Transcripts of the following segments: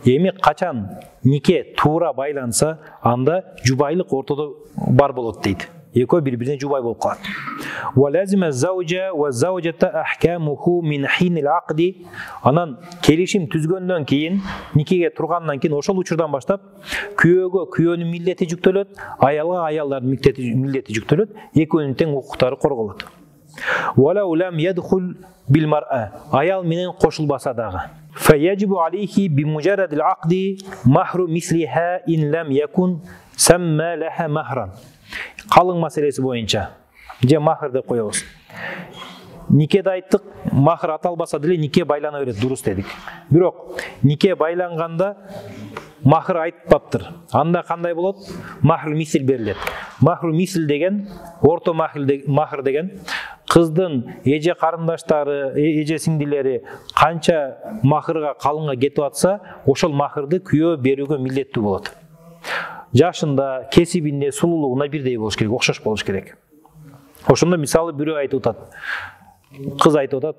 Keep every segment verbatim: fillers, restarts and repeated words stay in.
Эми качан нике туура байланса, анда жубайлык ортодо бар болот дейт. Экөө бири-бирине жубай болуп калат. Ва лазима заужа ва заужата ахкамуху мин хинил акди. Анан келишим түзгөндөн кийин, никеге тургандан кийин ошол учурдан баштап күйөөгө күйөөнүн милдети жүктөлөт, аялга аялдардын милдети жүктөлөт, экөөнүн тең укуктары корголот. Вала улам ядхул бил мар'a. Аял менен кошулбаса дагы. Фаяджибу алейхи бимуджарадил акди махру мислиха ин лам якун самма лаха махран. Калың маселеси боюнча же махр деп коебуз. Никеде айттык, махр аталбаса деле нике байлана берет, дурус дедик. Бирок нике байланганда махр айтпаптыр. Анда кандай болот? Махр мисил берилет. Махр мисил деген, орто махр деген кыздын эже карындаштары, эже сиңдилери канча махрга, калыңга кетип атса, ошол махрды күйөө берүүгө милдеттүү болот. Жашында, кесибинде, сулуулугуна бирдей болуш керек, окшош болуш керек. Ошондо мисалы бирөө айтып атат. Кыз айтып атат: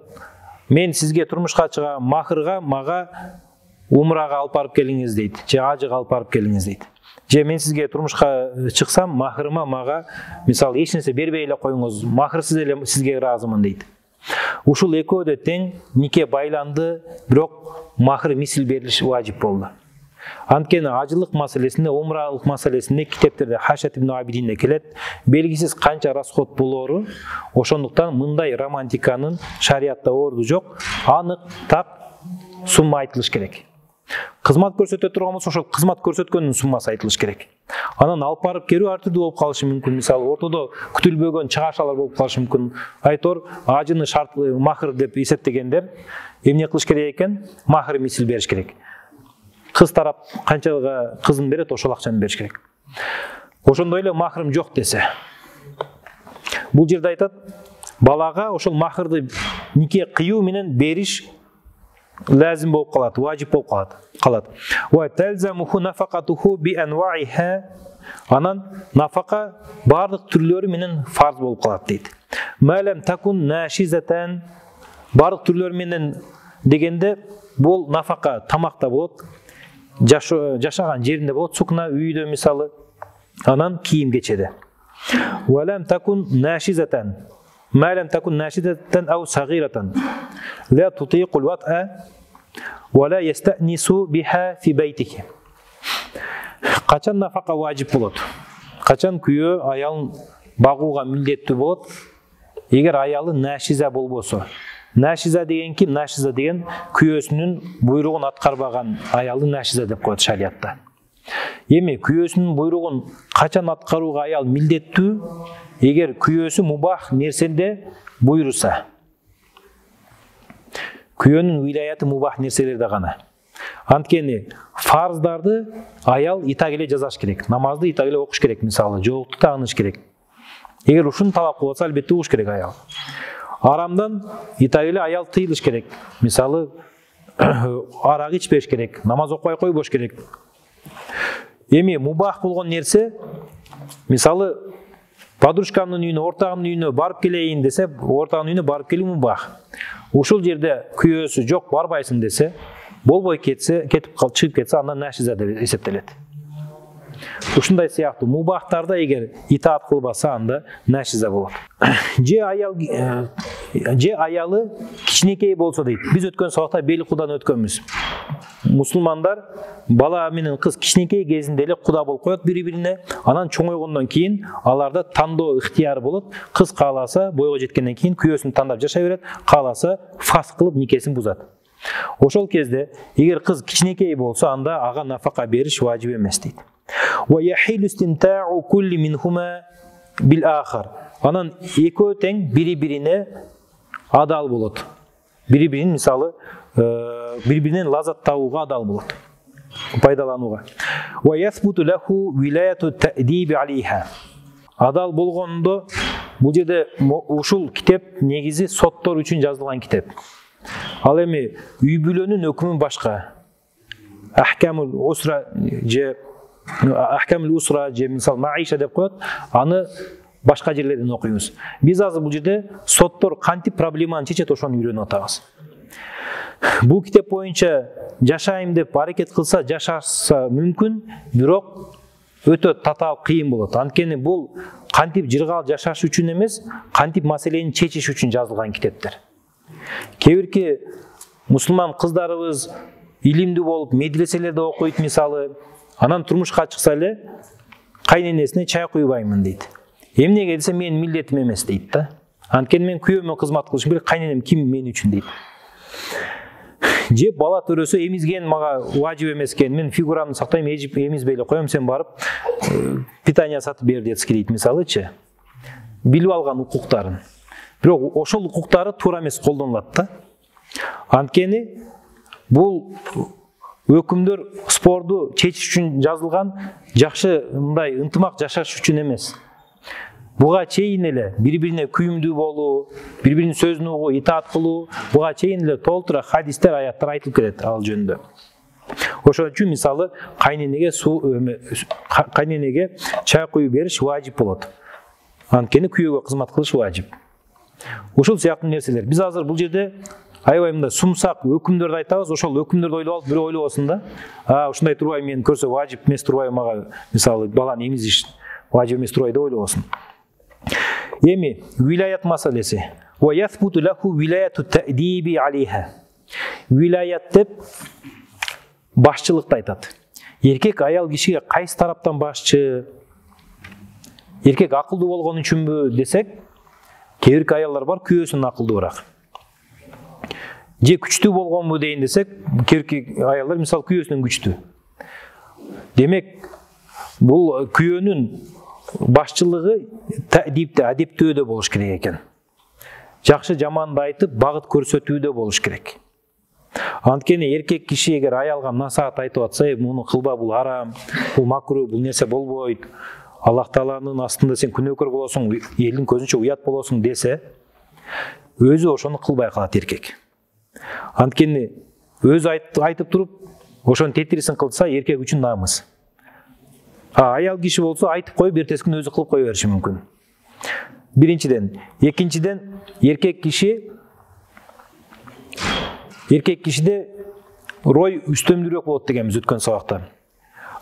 "Мен сизге турмушка чыгам, махрга мага умрага алып барып келиңиз" дейт. Же ажыга алып барып келиңиз дейт. Же мен сизге турмушка чыксам, махрыма мага мисалы эч нерсе бербей эле коюңуз, махрсыз эле сизге ыраазымын дейт. Ушул экөө да тең нике байланды, бирок махр мисил берилиш важип болду. Анткени ажылык маселесинде, умралык маселесинде китептерде Хашат ибн Абидинде келет, белгисиз канча расход болору, ошондуктан мындай романтиканын шариатта орду жок, анык так сумма айтылыш керек. Кызмат көрсөтө турган болсо, ошол кызмат көрсөткөндүн суммасы айтылыш керек. Анан алып барып керүү ар түрдүү болуп калышы мүмкүн. Мисалы, ортодо күтүлбөгөн чыгашалар болуп калышы мүмкүн. Айтор, ажыны шарт махр деп эсептегендер эмне кылыш керек экен? Махр мисил бериш керек. Кыз тарап канчага кызын берет, ошол акчаны бериш керек. Ошондой эле махрым жок десе, бул жерде айтат, балага ошол махрды нике кыюу менен бериш лазим болуп калат, важип болуп калат. Калат. Ва талзамуху нафакатуху би анваиха. Анан нафака бардык түрлөрү менен фарз болуп калат дейт. Малам такун нашизатан. Бардык түрлөрү менен дегенде бул нафака тамакта болот, жашаган жеринде болот, сукна үйдө мисалы, анан кийим кечеде. Валам такун нашизатан. Малам такун нашизатан ау сагиратан. Ла тутиқул ват'a ва ла ястанису биха фи байтики. Качан нафака важип болот? Качан күйөө аялын багууга милдеттүү болот? Эгер аялы нашиза болбосо. Нашиза деген ким? Нашиза деген күйөөсүнүн буйругун аткарбаган аялды нашиза деп коет шариатта. Эми күйөөсүнүн буйругун качан аткарууга аял милдеттүү? Эгер күйөөсү мубах нерседе буйруса. Күйөөнүн вилаяты мубах нерселерде гана. Анткени фарздарды аял итак эле жазаш керек. Намазды итак эле окуш керек, мисалы, жоолукту тагыныш керек. Эгер ушуну талап кылып атса, албетте угуш керек аял. Арамдан итак эле аял тыйылыш керек. Мисалы, арак ичпеш керек, намаз окубай койбош керек. Эми мубах болгон нерсе, мисалы, подружкамдын үйүнө, ортагымдын үйүнө барып келейин десе, ортагынын үйүнө барып келүү мубах. Ушул жерде күйөөсү жок, барбайсың десе, болбой кетсе, кетип калып чыгып кетсе, андан нашиза деп эсептелет. Ушундай сыяктуу мубахтарда эгер итаат кылбаса, анда нашиза болот. Же аял же аялы кичинекей болсо дейт. Биз өткөн сабакта бели кудан өткөнбүз. Мусулмандар бала менен кыз кичинекей кезинде эле куда болуп коет бири-бирине, анан чоңойгондон кийин аларда тандоо ыктыяры болот. Кыз кааласа бойго жеткенден кийин күйөөсүн тандап жашай берет, кааласа фаск кылып никесин бузат. Ошол кезде эгер кыз кичинекей болсо, анда ага нафака бериш важип эмес дейт. Ва яхилу истимта'у кулли минхума бил ахар. Анан экөө тең бири-бирине адал болот. Бири-бирин мисалы бири-биринен лаззат табууга адал болот, пайдаланууга. Ва ясбуту лаху вилаяту та'диби алейха. Адал болгондо бул жерде ушул китеп негизи соттор үчүн жазылган китеп. Ал эми үй бүлөнүн өкүмү башка. Ахкамул усра же Ахкамул усра же мисал маиша деп коет, аны башка жерлерден окуйбуз. Биз азыр бул жерде соттор кантип проблеманы чечет, ошону үйрөнүп атабыз. Бул китеп боюнча жашайм деп аракет кылса жашаса мүмкүн, бирок өтө татаал кыйын болот. Анткени бул кантип жыргал жашаш үчүн эмес, кантип маселени чечиш үчүн жазылган китептер. Кээ бирки мусулман кыздарыбыз илимдүү болуп, медреселерде окуйт мисалы, анан турмушка чыкса эле кайненесине чай куйбаймын дейт. Эмнеге десе, менин милдетим эмес дейт да. Анткени мен күйөөмө кызмат кылышым керек, кайненем ким мен үчүн дейт. Же бала төрөсө эмизген мага важип эмес экен, мен фигурамды сактайм, эмизбей эле коем, сен барып питание сатып бер детский дейт мисалычы. Билип алган укуктарын. Бирок ошол укуктары туура эмес колдонулат да. Анткени бул өкүмдөр спорду чечиш үчүн жазылган, жакшы мындай ынтымак жашаш үчүн эмес. Буга чейин эле бири-бирине күйүмдүү болуу, бири-биринин сөзүн угуу, итаат кылуу, буга чейин эле толтура хадистер, аяттар айтылып келет ал жөнүндө. Ошон үчүн мисалы кайненеге суу кайненеге чай куюп бериш важип болот. Анткени күйөөгө кызмат кылыш важип. Ушул сыяктуу нерселер. Биз азыр бул жерде аябай мындай сумсак өкүмдөрдү айтабыз, ошол өкүмдөрдү ойлоп алып, бирөө ойлобосун да. А, ушундай турбай мени көрсө важип эмес турбай мага, мисалы баланы эмизиш важип эмес турбай деп ойлобосун. Эми вилаят маселеси. Ва ясбуту лаху вилаяту таъдиби алейха. Вилаят деп башчылыкты айтат. Эркек аял кишиге кайсы тараптан башчы? Эркек акылдуу болгон үчүнбү десек, кээ бирки аялдар бар күйөөсүнөн акылдуураак. Же күчтүү болгонбу дейин десек, кээ бирки аялдар мисалы күйөөсүнөн күчтүү. Демек, бул күйөөнүн башчылыгы таъдибде, адептөөдө болуш керек экен. Жакшы жаманды айтып, багыт көрсөтүүдө болуш керек. Анткени эркек киши эгер аялга насаат айтып атса, муну кылба, бул арам, бул макруh, бул нерсе болбойт, Аллах Тааланын астында сен күнөөкөр болосуң, элдин көзүнчө уят болосуң десе, өзү ошону кылбай калат эркек. Анткени өзү айтып туруп, ошонун тетирисин кылса, эркек үчүн намыс. А аял киши болсо айтып коюп, эртеси күнү өзү кылып кое бериши мүмкүн. Биринчиден, экинчиден, эркек киши эркек кишиде рой үстөмдүүрөөк болот дегенбиз өткөн сабакта.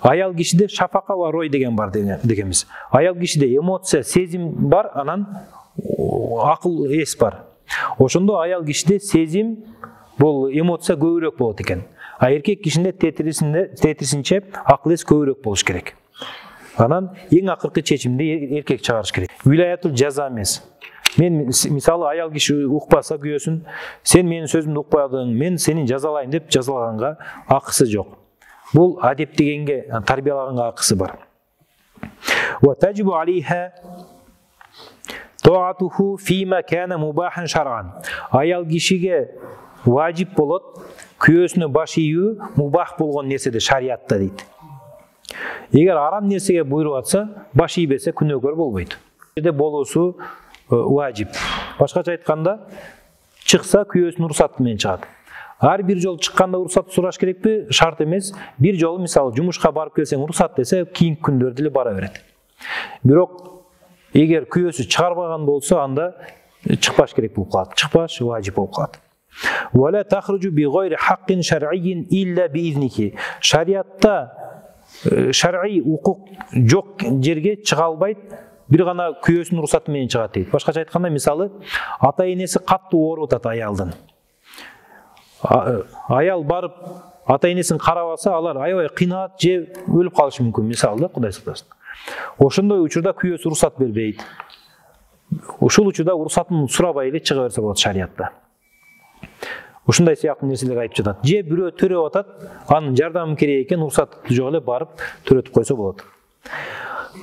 Аял кишиде шафака ва рой деген бар дегенбиз. Аял кишиде эмоция, сезим бар, анан акыл, эс бар. Ошондо аял кишиде сезим, бул эмоция көбүрөөк болот экен. А эркек кишинде тетирисинде тетирисинче акыл эс көбүрөөк болуш керек. Анан эң акыркы чечимди эркек чыгарыш керек. Вилаятул жаза эмес. Мен мисалы аял киши укпаса күйөөсүн, сен менин сөзүмдү укпадың, мен сени жазалайм деп жазалаганга акысы жок. Бул адеп дегенге, тарбиялаганга акысы бар. Ва таджибу алейха таатуху фима кана мубахан шар'ан. Аял кишиге важип болот күйөөсүнө баш ийүү мубах болгон нерседе шариатта дейт. Эгер арам нерсеге буйруп атса, баш ийбесе күнөөкөр болбойт. Жерде болуусу важип. Башкача айтканда, чыкса күйөөсүнүн уруксаты менен чыгат. Ар бир жолу чыкканда уруксат сураш керекпи? Шарт эмес. Бир жолу мисалы жумушка барып келсең уруксат десе, кийинки күндөрдө эле бара берет. Бирок эгер күйөөсү чыгарбаган болсо, анда чыкпаш керек болуп калат. Чыкпаш важип болуп калат. Вала тахруджу би гайри хаккин шар'ийин илля би изнихи. Шариатта шар'ий укук жок жерге чыга албайт, бир гана күйөөсүнүн уруксаты менен чыгат дейт. Башкача айтканда, мисалы ата-энеси каттуу ооруп атат аялдын. Аял барып ата-энесин карап алса, алар аябай кыйналат, же өлүп калышы мүмкүн, мисалы да, Кудай сактасын. Ошондой учурда күйөөсү уруксат бербейт. Ушул учурда уруксатын сурабай эле чыга берсе болот шариатта. Ушундай сыяктуу нерселер айтып жатат. Же бирөө төрөп атат, анын жардамы керек экен, уруксаты жок эле барып төрөтүп койсо болот.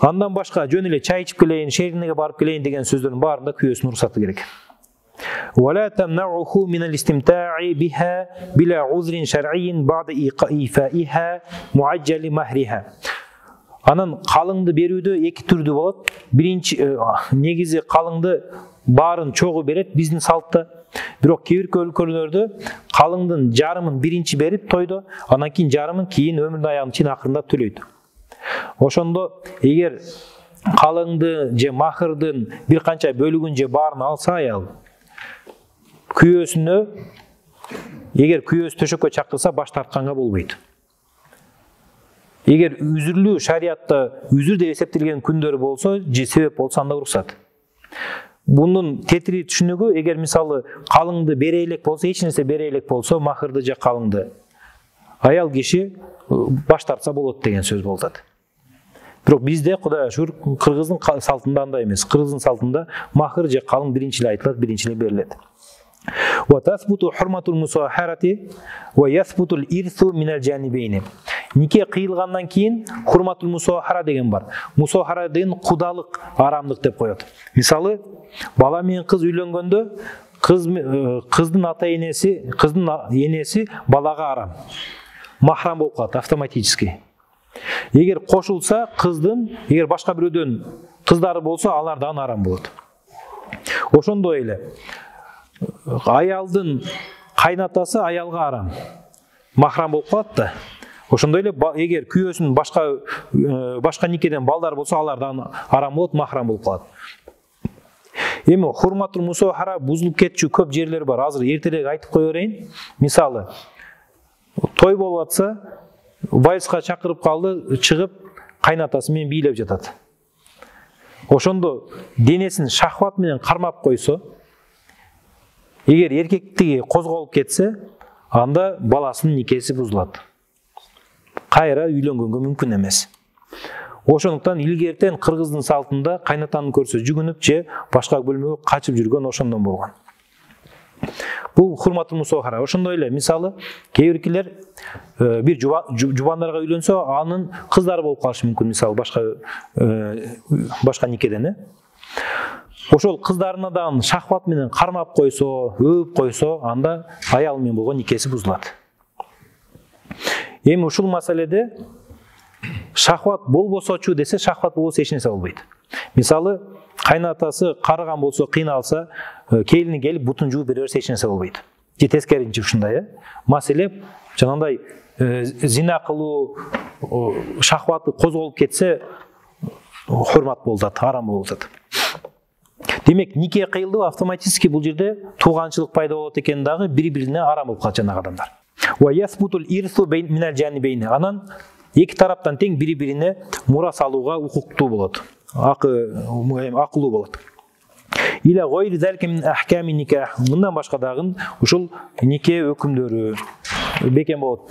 Андан башка жөн эле чай ичип келейин, шеринеге барып келейин деген сөздөрдүн баарында күйөөсүнүн уруксаты керек. ولا تمنعه من الاستمتاع بها بلا عذر شرعي بعد إيفائها معجل مهرها. Анан калыңды берүүдө эки түрдүү болот. Биринчи негизи калыңды баарын чогуу берет биздин салтта. Бирок кээ бир өлкөлөрдө калыңдын жарымын биринчи берип тойдо, анан кийин жарымын кийин өмүрүнүн аягына чейин акырында төлөйт. Ошондо эгер калыңды же махырдын бир канча бөлүгүн же баарын алса аял, күйөөсүнө эгер күйөөсү төшөккө чакырса баш тартканга болбойт. Эгер үзүрлүү шариатта үзүр деп эсептелген күндөр болсо, же себеп болсо анда уруксат. Бунун тетири түшүнүгү, эгер мисалы калыңды бере элек болсо, эч нерсе бере элек болсо, махырды же калыңды аял киши баш тартса болот деген сөз болуп атат. Бирок бизде Кудайга шүгүр кыргыздын салтында андай эмес. Кыргыздын салтында махыр же калың биринчи эле айтылат, биринчи эле берилет. Wa tathbutu hurmatul musaharati wa yathbutu al-irthu min al-janibayn. Нике кыйылгандан кийин хурматул мусахара деген бар. Мусахара деген кудалык, арамдык деп коет. Мисалы, бала менен кыз үйлөнгөндө кыз кыздын ата-энеси, кыздын энеси балага арам. Махрам болуп калат автоматически. Эгер кошулса кыздын, эгер башка бирөөдөн кыздары болсо, алардан арам болот. Ошондой эле аялдын кайнатасы аялга арам. Махрам болуп калат да. Ошондой эле эгер күйөөсүнүн башка башка никеден балдар болсо, алардан арам болот, махрам болуп калат. Эми хурматул мусахара бузулуп кетчү көп жерлер бар. Азыр эртерээк айтып кое берейин. Мисалы, той болуп атса, вальска чакырып калды, чыгып кайнатасы менен бийлеп жатат. Ошондо денесин шахват менен кармап койсо, эгер эркектиги козголуп кетсе, анда баласынын никеси бузулат. Кайра үйлөнгөнгө мүмкүн эмес. Ошондуктан илгертен кыргыздын салтында кайнатаны көрсө жүгүнүп же башка бөлмөгө качып жүргөн ошондон болгон. Бул хурматул мусахара. Ошондой эле мисалы, кээ биркилер бир жубандарга үйлөнсө, анын кыздары болуп калышы мүмкүн, мисалы башка башка никеден, э? Ошол кыздарына да шахват менен кармап койсо, өөп койсо, анда аял менен болгон никеси бузулат. Эми ушул маселеде шахват болбосочу десе, шахват болбосо эч нерсе болбойт. Мисалы, кайнатасы карыган болсо, кыйналса, келини келип бутун жууп бере берсе эч нерсе болбойт. Же тескеринчи ушундай, э? Маселе жанагындай зина кылуу, шахваты козголуп кетсе, хурмат болуп атат, арам болуп атат. Демек, нике кыйылды, автоматически бул жерде тууганчылык пайда болот экен дагы, бири-бирине арам болуп калат жанагы адамдар. Wa yathbutul irthu min al-janibayn. Анан эки тараптан тең бири-бирине мурас алууга укуктуу болот. Акы, акылуу болот. Ила гойри залика мин ахками никах. Мындан башка дагы ушул нике өкүмдөрү бекен болот.